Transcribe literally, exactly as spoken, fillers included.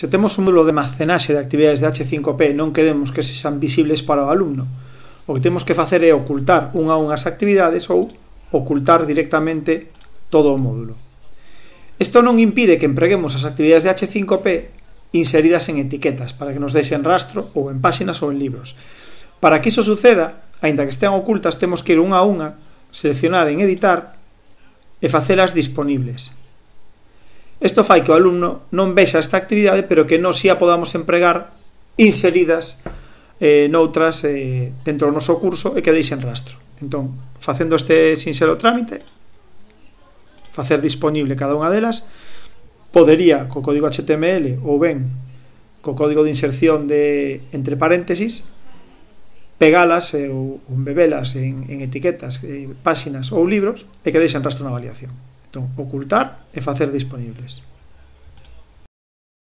Se temos un módulo de almacenaxe de actividades de hache cinco pe e non queremos que sexan visibles para o alumno, o que temos que facer é ocultar unha a unhas actividades ou ocultar directamente todo o módulo. Isto non impide que empreguemos as actividades de hache cinco pe inseridas en etiquetas para que nos deixen rastro ou en páxinas ou en libros. Para que iso suceda, aínda que estean ocultas, temos que ir unha a unha, seleccionar en editar e facelas disponibles. Isto fai que o alumno non vexa esta actividade, pero que non si a podamos empregar inseridas eh, noutras eh, dentro do noso curso e que deixen rastro. Entón, facendo este sinxelo trámite, facer disponible cada unha delas, podería, co código hache te eme ele ou ben co código de inserción de entre paréntesis, pegalas eh, ou embebelas en, en etiquetas, eh, páxinas ou libros e que deixen rastro na avaliación. Entón, ocultar e facer disponibles.